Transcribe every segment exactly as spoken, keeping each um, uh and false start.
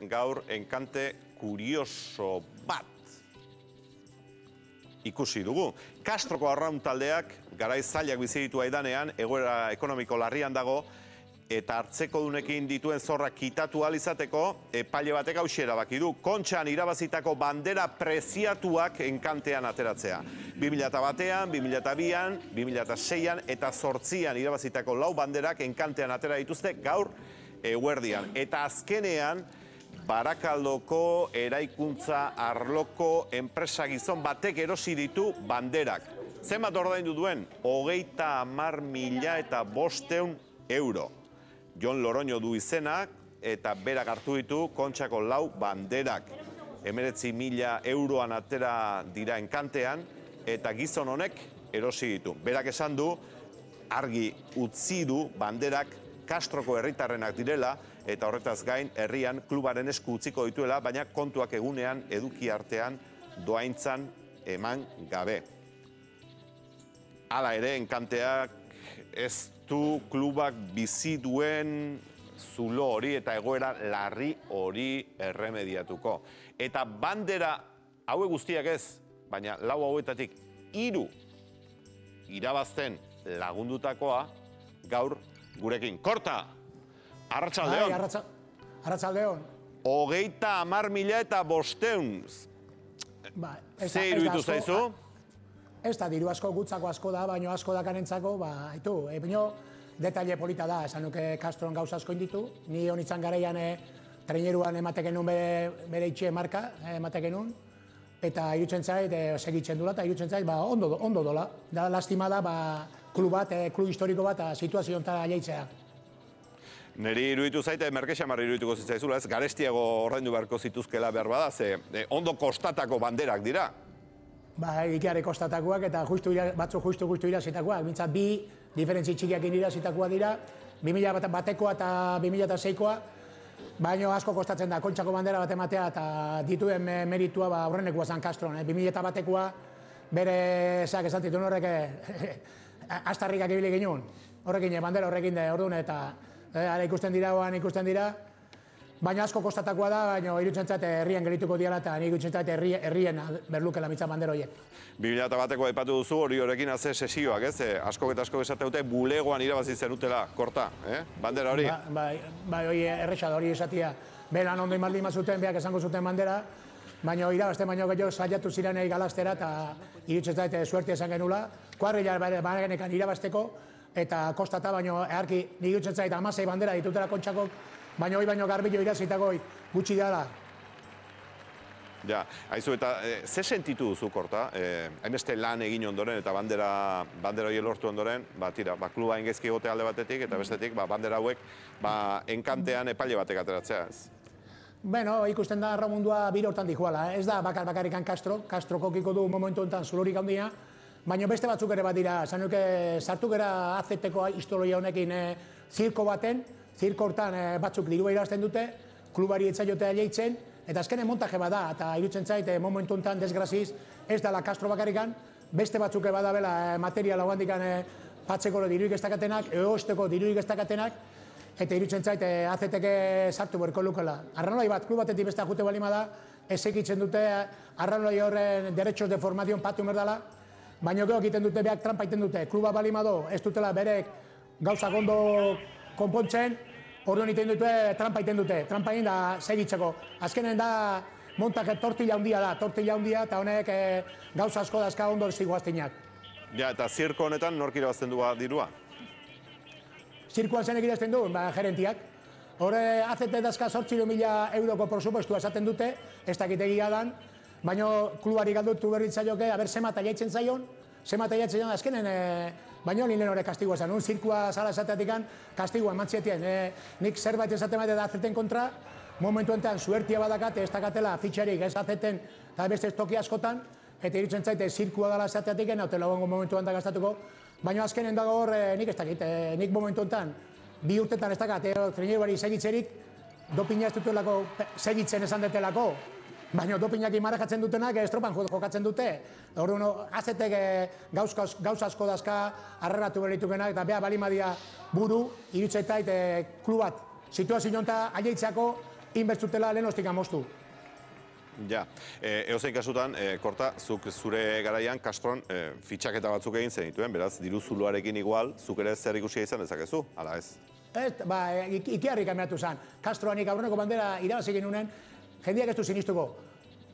Gaur enkante kurioso bat ikusi dugu. Castroko arraun taldeak garai zailak bizi ditu aidanean, egoera ekonomiko larrian dago, eta hartzeko dunekin dituen zorrak kitatu ahal izateko, epaile batek hauxe erabaki du. Kontxan irabazitako bandera preziatuak enkantean ateratzea. bi mila batean, bi mila bian, bi mila seian eta zortzian irabazitako lau banderak enkantean atera dituzte gaur eguerdian. Eta azkenean, Barakaldoko eraikuntza arloko enpresa gizon batek erosi ditu banderak. Zenbat ordaindu duen? Hogeita hamar mila eta bosteun euro. Jon Loroño du izenak eta berak hartu ditu Kontxako lau banderak. Hemeretzi mila euroan atera dira enkantean eta gizon honek erosi ditu. Berak esan du, argi utzi du banderak Castroko herritarrenak direla, eta horretaz gain herrian klubaren esku utziko dituela, baina kontuak egunean eduki artean doaintzan eman gabe. Hala ere, enkanteak ez du klubak bizi duen zulo hori eta egoera larri hori erremediatuko. Eta bandera haue guztiak ez, baina lau hauetatik hiru irabazten lagundutakoa gaur gurekin. Korta! Arratsaldeon. Arratsaldeon. Hogeita hamar mila eta bosteun. Ze iruditu zaizu? Ez da, diru asko gutzako asko da, baina asko dakanentzako, ba, haitu, baina detaile polita da, esan nuke Castron gauza asko inditu, ni honitzan garaian traineruan emateken nun bere itxe marka, emateken nun, eta irutzen zait, segitzen dula, eta irutzen zait, ba, ondo dola. Da, lastima da, ba, klub bat, klub historiko bat, situazio onta jaitzea. Neri iruditu zaite, merkexamar irudituko zitzaizula, ez garestiago ordaindu beharko zituzkela behar bada, ze ondo kostatako banderak dira. Ba, ikiare kostatakoak eta batzu justu-justu irazitakoak. Mintzat bi diferentzi txikiak irazitakoak dira, bi mila batekoa eta bi mila seikoa, baina asko kostatzen da, Kontxako bandera bat ematea eta dituen meritua horrenekoa zan Castron. bi mila batekoa bere, zeak esan titun horrek, astarrikak ibili ginen, horrekin, bandera horrekin da, orduan eta ara ikusten dira, oan ikusten dira, baina asko kostatakoa da, baina irutzen zait herrien gelituko diala eta nik irutzen zait herrien berlukela mitzan bandera horiek. bi mila bateko aipatu duzu hori horrekin haze sesioak, ez? Asko eta asko esate dute bulegoan irabazi zenutela, Korta, bandera hori? Bai, hori erresa da hori esatia. Belan ondo imaldin mazuten, beak esango zuten bandera, baina irabazte baino gehiago saiatu zirenei galaztera eta irutzen zait suertia esan genula, kuadrilla bagenekan irabazteko, eta kostata baino eharki nik irutzen zait hamasei bandera ditutela Kontxakok, baina hoi baino garbilo irazitako gutxi dela. Ja, haizu eta ze sentitu duzu, Korta? Hainbeste lan egin ondoren eta bandera hori lortu ondoren, ba, tira, kluba engezki egote alde batetik eta bestetik bandera hauek enkantean epaile batek ateratzea, ez? Bueno, ikusten da arramundua bire hortan dihuala, ez da bakar bakarikan Castro, Castro kokiko du momentu enten zulorik handia, baina beste batzuk ere bat dira, zan nuke sartu gara azeteko historia honekin zirko baten, zirko hortan batzuk dirua irazten dute, klubari etzaiotea leitzen, eta azkenen montaje bat da, eta irutzen zait momentu enten desgraziz ez dela Castro bakarikan, beste batzuk badabela materiala handikan patzeko diruik ez dakatenak, eosteko diruik ez dakatenak, eta irutzen zait azeteke sartu berko lukela. Arranolai bat, klub batetik beste jute balima da, ez egitzen dute arranolai horren derechos de formación patu merdala, baina gero egiten dute, behak trampa egiten dute, kluba balima do, ez dutela berek gauza gondo konpontzen, orduan egiten dute, trampa egiten dute, trampa egin da segitzeko. Azkenen da, montak tortilla handia da, tortilla handia, eta honek gauza asko dazka ondo ziguaztinak. Ja, eta zirko honetan nork irabazten du dirua? Zirkuan zenek irabazten du, gerentiak. Horre, azete dazka zortziru mila euroko prosupostua esaten dute, ez dakitegia dan, baina klubari galdutu berritzaioke, aber zemata jaitzen zaion, zemata jaitzen zaion, azkenen, baina lehen hori kastigua esan, un zirkua zara esateatik kastigua emantzietien. Nik zerbait esaten bat azeten kontra, momentu enten suertia badakate, ez dakatela fitxerik ez azeten, eta beste toki askotan, eta irutzen zaite zirkua dala esateatik, eta lagungo momentu enten gaztatuko, baina azkenen dago hor, nik ez dakit, nik momentu enten, bi urtetan ez dakat, treneru bari segitzerik, dopina ez dutelako segitzen esan detelako, baina dopinak imarajatzen dutenak estropan jokatzen dute. Orduan, azetek gauza asko dazka arreratu beritukenak eta beha balimadia buru, irutzaitait klub bat situazio jonta aieitzako inbertzutela lehen hostik amostu. Ja, eozein kasutan, Korta, zuk zure garaian Castron fitxaketa batzuk egin zenituen, beraz, diru zuloarekin igual, zuk ere zer ikusia izan dezakezu, ala ez? Ez, ba, ikiarrik ameatu zen. Castroanik aurreneko bandera irabazi genunen, jendeak ez du sinistuko.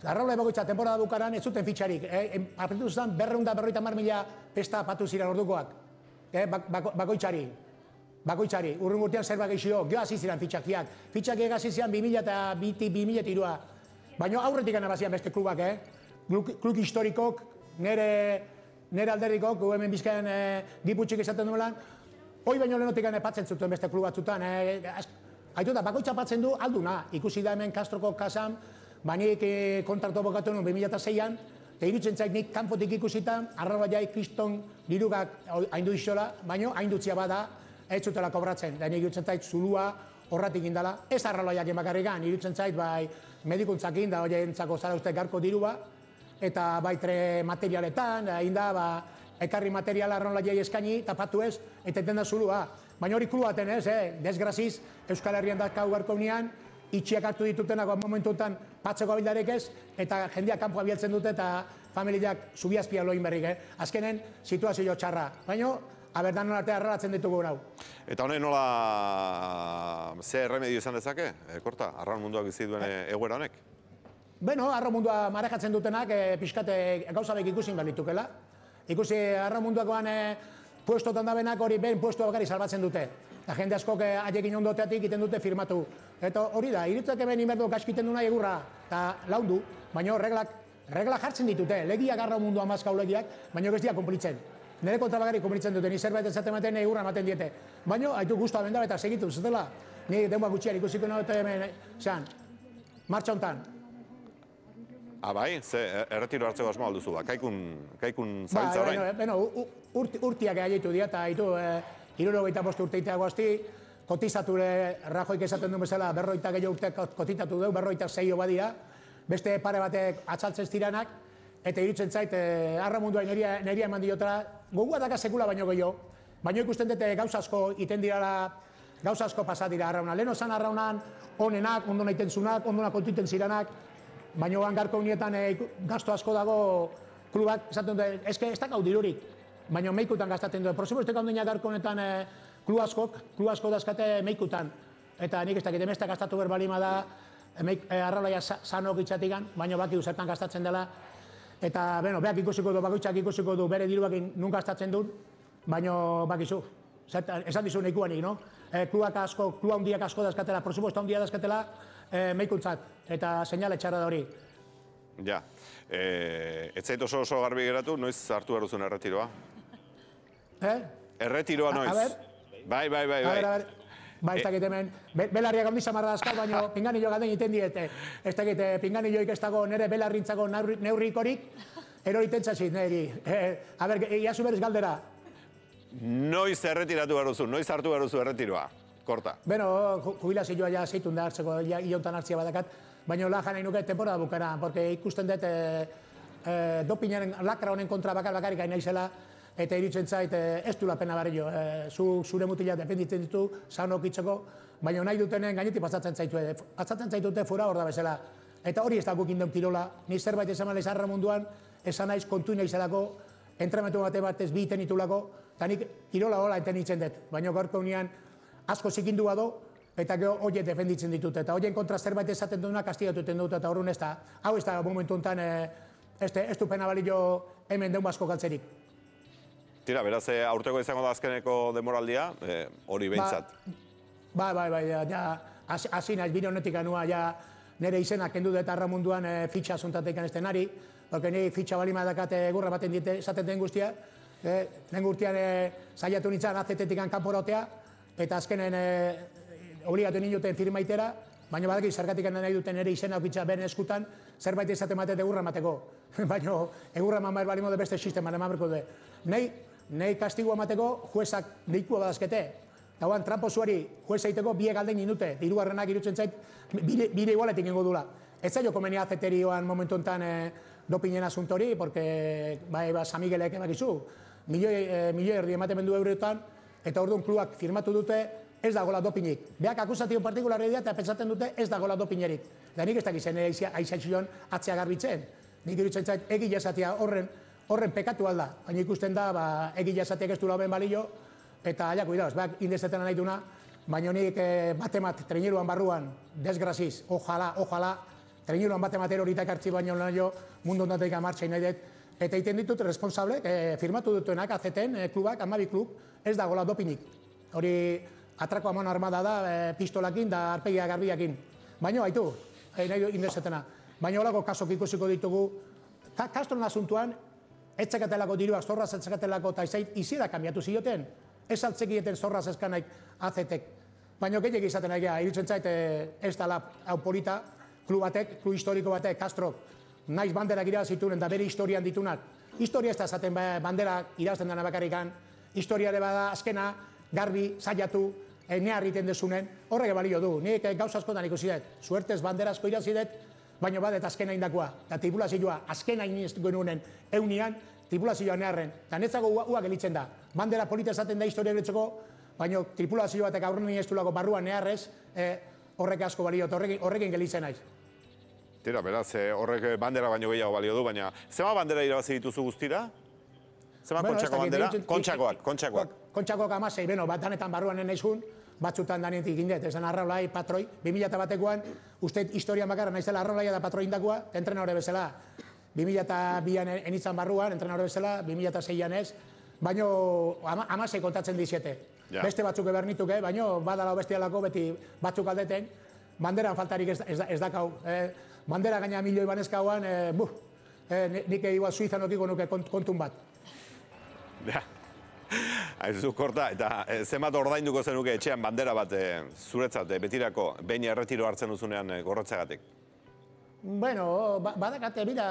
Arraula ebagoitza temporada bukaran ez zuten fitxarik. Apretu zen berreunda berroita mar mila pesta patu ziren ordukoak. Bakoitzari. Bakoitzari. Urrun urtean zer bageixio, gio hasi ziren fitxakiak. Fitxakiak hasi ziren bi mila eta bi mila eta irua. Baina aurretik anabazian beste klubak, eh? Klub historikok, nire alderrikok, gu hemen bizkaen giputxik izaten duelan, hoi baino lehenotik patzen zuten beste klub batzutan. Haitu da, bakoitza patzen du alduna. Ikusi da hemen Castroko kasan, banik kontratu bokatu nuen bi mila eta seian, eta irutzen zait nik kanpotik ikusitan, arraba jai kriston dirugak haindu izola, baina haindutzia bada, ez zutela kobratzen. Da nik irutzen zait zulua horratik indala. Ez arraloiak emakarrikan, irutzen zait, bai, medikuntzakin, da hori entzako zara uste garko dirua, eta baitre materialetan, inda, ba, ekarri materiala arrolaiai eskaini, tapatu ez, eta eten da zulua. Baina hori kluaten ez, eh? Desgraziz, Euskal Herrian dakau garko nian, itxiak hartu ditutenak momentu enten patzeko abildarek ez, eta jendeak kanpo abieltzen dute, eta familiak zubiazpia loin berrik, eh? Azkenen, situazio txarra. Baina, aberdan nola arte arralatzen ditugu hau. Eta honen nola ze erremedio izan dezake, Korta, arraun munduak bizi duen egoera honek? Beno, arraun mundua marejatzen dutenak pixkate gauzabek ikusin behar litukela. Ikusi arraun munduakoan puestotan dabenak hori behin puestua bakari salbatzen dute. Eta jende askok haiekin ondoteatik egiten dute firmatu. Eta hori da, iritzak eben inberdu gaskiten duna egurra eta laundu, baina reglak jartzen ditute. Legiak arraun mundua mazkau legiak, baina ez dira kumplitzen. Nire kontra bagari kumplitzen dute, ni zerbait ezaten maten egurra ematen diete. Baina, haitu guztua benda eta segitu, zutela. Ni denboa gutxiar ikusiko nahi eta hemen, zean, martxa hontan. Ah, bai? Ze, erretiro hartzeko asmo alduzu, ba, kaikun zabiltza orain? Beno, urtiak egaitu dira, eta haitu, hirurogeita bost urteita guazti, kotizatu Rajoik esaten duen bezala, berroita gehiago urte kotizatu dugu, berroita zeio badira, beste pare batek atzaltzen ziranak, eta irutzen zait, arra munduain neria eman diotara, gogua daka sekula baino gehiago, baino ikusten dute gauza asko iten dirala, gauza asko pasat dira arrauna. Lehen osan arraunan, onenak, ondo nahi tentzunak, ondo nakotiten ziranak, baino gangarko unietan gasto asko dago klubak, esaten dute, eske ez dakau dirurik, baino meikutan gastatzen dute. Prosimo, ez dakau dina garko honetan klub askok, klub asko dazkate meikutan. Eta nik ez dakit, emestak gastatu berbalima da, arralaia sanok itxatikan, baino baki zertan gastatzen dela. Eta, beno, beak ikusiko du, bakoitzak ikusiko du, bere diruakin nun gastatzen duen, baino bakizu. Esan dizu nahikoanik, no? Klubak asko, kluba hundiak asko dazkatela, prosuposta hundia dazkatela, meikuntzat, eta seinale txarra da hori. Ja, ez zait oso oso garbi geratu, noiz hartu behar duzun erretiroa? Eh? Erretiroa noiz? Bai, bai, bai, bai. Ba, ez dakit hemen, belarriak handi samarra dazkal, baina pinganillo gaten iten diete. Ez dakit, pinganilloik ez dago nire belarrintzako neurrikorik, eroriten txasit, niri. A ber, iazu berez galdera. Noiz erretiratu behar duzu, noiz hartu behar duzu erretiroa, Korta? Beno, jubilazioa ja zeitun da hartzeko, iauntan hartzia badakat, baina lajan nahi nuke temporada bukara, porque ikusten dut dopinaren lakra honen kontra bakar bakarik hain naizela, eta iritzen zait ez du lapena barrio, zure mutila defenditzen ditu, zaunok itzeko, baina nahi dutenen gainetik pasatzen zaitu, pasatzen zaitute fura hor da bezala. Eta hori ez da gukin den kirola, ni zerbait esan mala izarra munduan, esan naiz kontu naizelako, entremetu bate batez bi iten itulako, eta nik kirola hola enten itzen dut, baina gorko unian asko zikindu bado, eta gero horiek defenditzen ditut, eta horien kontra zerbait esaten duna kastigatuten dut, eta horren ez da, hau ez da momentu honetan ez du pena balio hemen deun basko galtzerik. Tira, beraz, aurteko izango da azkeneko demoraldia, hori behintzat. Bai, bai, bai, ja, hasi naiz, bire honetik anua, ja, nire izenak kendu dut arra munduan fitxa zontatek anezten ari, porque nire fitxa balima dakate gurra baten dite esaten den guztia, lehen gurtian saiatu nintzen azetetik kanporotea, eta azkenen obligatu nintzen firmaitera, baina badaki zergatik nahi duten nire izena fitxa beren eskutan, zerbait esaten matete egurra mateko. Baina egurra eman behar balimo de beste sisteman eman berko du. Nei kastigua mateko juezak deikua badazkete. Eta guan, trampo zuari jueza iteko biek aldein minute, hirugarrenak irutzen zait, bire igualetik ingo dula. Ez zailo komeni azeterioan momentu enten dopinen asuntori, porque bai, San Miguelek ebakizu, milioi erdi ematen bendu eurotan, eta orduan klubak firmatu dute, ez dagoela dopinik. Beak akusatio partikularri dira eta pentsatzen dute ez dagoela dopinerik. Eta nik ez dakizen aizaitzion atzea garbitzen. Nik iruditzen zait egile esatea horren horren pekatu alda. Baina ikusten da, ba, egile esateak ez du lauben balio, eta aia, kuidauz, beak indezetena nahi duna, baina nik batemat treniruan barruan, desgraziz, ojala, ojala, treniruan batemat eroritak hartzi baino nahi mundu ondateik amartxain nahi dut, eta egiten ditut responsable, firmatu dutuenak azeten, klubak, amabi klub, ez dagoela dopinik. Hori atrako amano armada da, pistolakin da arpegia garbiakin. Baina, haitu, nahi indezetena. Baina holako kasok ikusiko ditugu, Castron asuntuan, etzakatelako diruak, zorraz etzakatelako eta izait, izira kambiatu zioten. Ez altzekieten zorraz eskanaik azetek. Baina gehiagik izaten nahi geha, irutzen zait ez dala hau polita, klub batek, klub historiko batek, Castrok, naiz banderak irabazituen eta bere historian ditunak. Historia ez da esaten banderak irabazten dena bakarrikan, historiare bada azkena, garbi, zaiatu, nea egiten dezunen, horrek balio du. Nik gauza askotan ikusi dut, suertez bandera asko irazidet, baina badet azkena indakoa, eta tripulazioa azkena inistu genunen eunian, tripulazioa neharren, eta netzago ua gelitzen da. Bandera polita esaten da historia gelitzeko, baina tripulazio batek aurren iniestulako barruan neharrez, horrek asko balio, eta horrekin gelitzen naiz. Tira, beraz, horrek bandera baino gehiago balio du, baina zema bandera irabazi dituzu guztira? Zema kontxako bandera? Kontxakoak, kontxakoak. Kontxakoak amasei, beno, bat danetan barruan naizun, batzutan danetik indet, esan arraulai, patroi, bi mila batekoan, uste historian bakarra naizela arraulaia da patroi indakoa, entrenadore bezala. bi mila bian enitzan barruan, entrenadore bezala, bi mila seian ez, baino amasei kontatzen diziete. Beste batzuk ebernituke, baino badala bestialako beti batzuk aldeten, banderan faltarik ez dakau. Bandera gaina milioi banezkauan, nik igual Suizan okiko nuke kontun bat. Ja. Aizu, Korta, eta zenbat ordainduko zenuke etxean bandera bat zuretzat, betirako, behin erretiro hartzen duzunean gorrotzagatik? Bueno, badakat, bida,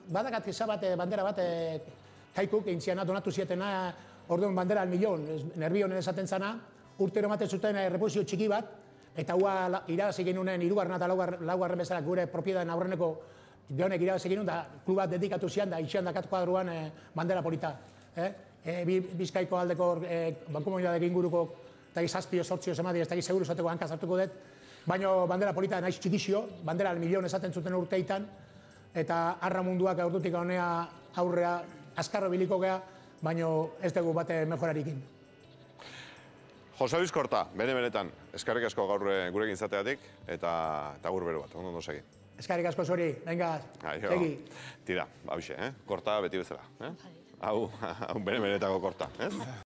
badakat bat bandera bat kaikuk, intziana donatu zietena, orduan bandera al milion, nerbi honen esaten zana, urtero ematen zuten repozio txiki bat, eta hua irabazi genunen irugarren eta laugarren bezala gure propiedaden aurreneko honek irabazi genuen, da klubat dedikatu zian, da itxian dakat kuadruan bandera polita. Bizkaiko aldeko bankomunidadek inguruko eta gizazpio sortzio zemadi, ez da seguru zateko hankaz hartuko dut, baina bandera polita naiz txikizio, bandera al milion esaten zuten urteitan, eta arra munduak aurdutik honea aurrea azkarro biliko gea, baina ez dugu bate mejorarikin. Jose Luis Korta, bene-benetan, eskarrik asko gaur gurekin izateatik, eta gur bero bat, ondo ondo segi. Eskarrik asko zori, venga, segi. Tira, hauxe, Korta beti bezala. Hau, bene-benetako Korta, ez?